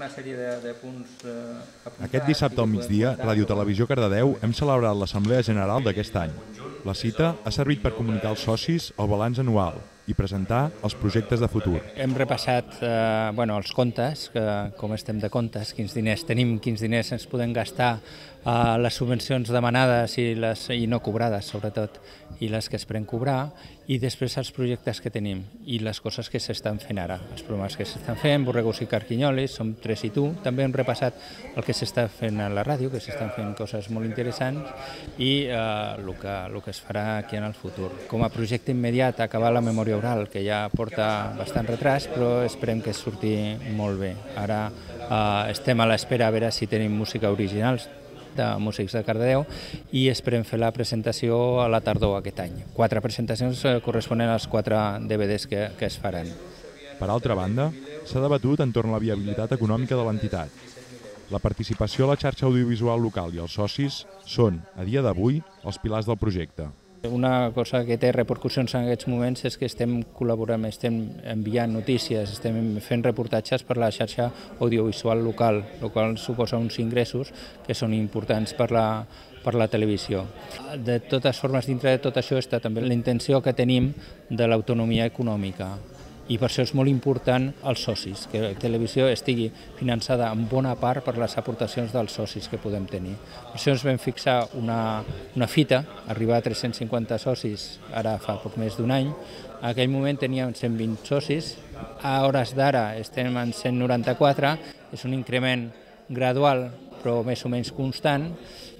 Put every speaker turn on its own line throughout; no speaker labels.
una sèrie de punts apuntats.
Aquest dissabte al migdia, Ràdio Televisió Cardedeu hem celebrat l'Assemblea General d'aquest any. La cita ha servit per comunicar als socis el balanç anual i presentar els projectes de futur.
Hem repassat els comptes, com estem de comptes, quins diners tenim, quins diners ens podem gastar, les subvencions demanades i no cobrades, sobretot, i les que esperem cobrar, i després els projectes que tenim i les coses que s'estan fent ara. Els programes que s'estan fent, Borregos i Carquinyolis, Som 3 i tu. També hem repassat el que s'està fent a la ràdio, que s'estan fent coses molt interessants, i el que es farà aquí en el futur. Com a projecte immediat, acabar la memòria oral, que ja porta bastant retras, però esperem que surti molt bé. Ara estem a l'espera a veure si tenim música originals de músics de Cardedeu i esperem fer la presentació a la tardor aquest any. 4 presentacions corresponen als 4 DVDs que es faran.
Per altra banda, s'ha debatut entorn a la viabilitat econòmica de l'entitat. La participació a la xarxa audiovisual local i els socis són, a dia d'avui, els pilars del projecte.
Una cosa que té repercussions en aquests moments és que estem col·laborant, estem enviant notícies, estem fent reportatges per la xarxa audiovisual local, el qual suposa uns ingressos que són importants per la televisió. De totes formes, dintre de tot això està també la intenció que tenim de l'autonomia econòmica. I per això és molt important els socis, que la televisió estigui finançada en bona part per les aportacions dels socis que podem tenir. Per això ens vam fixar una fita, arribar a 350 socis ara fa poc més d'un any. En aquell moment teníem 120 socis, a hores d'ara estem en 194, és un increment gradual però més o menys constant,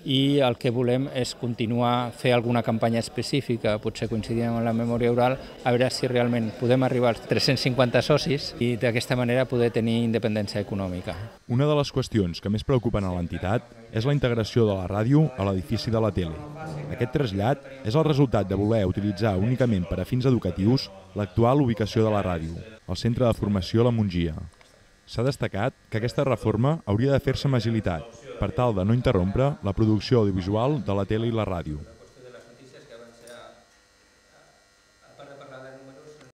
i el que volem és continuar a fer alguna campanya específica, potser coincidint amb la memòria oral, a veure si realment podem arribar als 350 socis i d'aquesta manera poder tenir independència econòmica.
Una de les qüestions que més preocupen a l'entitat és la integració de la ràdio a l'edifici de la tele. Aquest trasllat és el resultat de voler utilitzar únicament per a fins educatius l'actual ubicació de la ràdio, el Centre de Formació La Mongia. S'ha destacat que aquesta reforma hauria de fer-se amb agilitat, per tal de no interrompre la producció audiovisual de la tele i la ràdio.